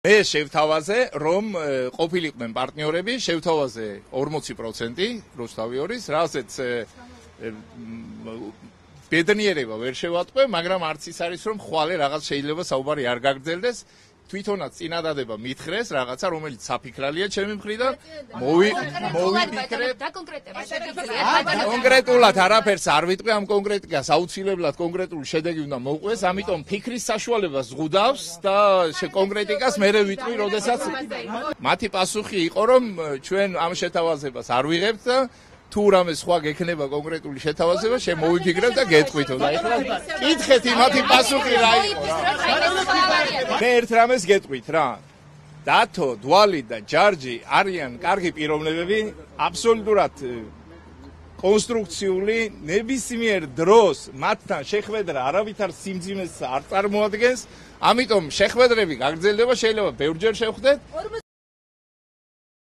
მე შევთავაზე, რომ ყოფილიყვნენ პარტნიორები, შევთავაზე 40% რუსთავი 2-ის, რასაც ბედნიერება ვერ შევატყვე, მაგრამ არც ის არის, რომ ხვალე რაღაც შეიძლება საუბარი არ გაგრძელდეს. თვითონაც წინადადება მითხრეს რაღაცა, რომელიც საფიქრალია ჩემი მხრიდან. მოვიფიქრეთ. კონკრეტულად არაფერს არ ვიტყვი ამ კონკრეტიკას, აუცილებლად კონკრეტული შედეგი უნდა მოვყვეს, ამიტომ ფიქრის საშუალებას ზღუდავს და კონკრეტიკას მერე ვიტყვი, როდესაც მათი პასუხი იყო, რომ ჩვენ ამ შეთავაზებას არ ვიღებთ და თუ რამე სხვა გექნება კონკრეტული შეთავაზება, შემოვიფიქრებ და გეტყვითო და ეხლა კითხეთ იმათი პასუხი რა იყო. მე ერთ რამეს გეტყვით რა. დათო, დვალი და ჯარჯი არიან კარგი პიროვნებები, აბსოლუტურად კონსტრუქციული, ნებისმიერ დროს მათთან შეხვედრა არავითარ სიმძიმეს არ წარმოადგენს, ამიტომ შეხვედრები გაგრძელდება, შეიძლება ბევრჯერ შევხვდეთ.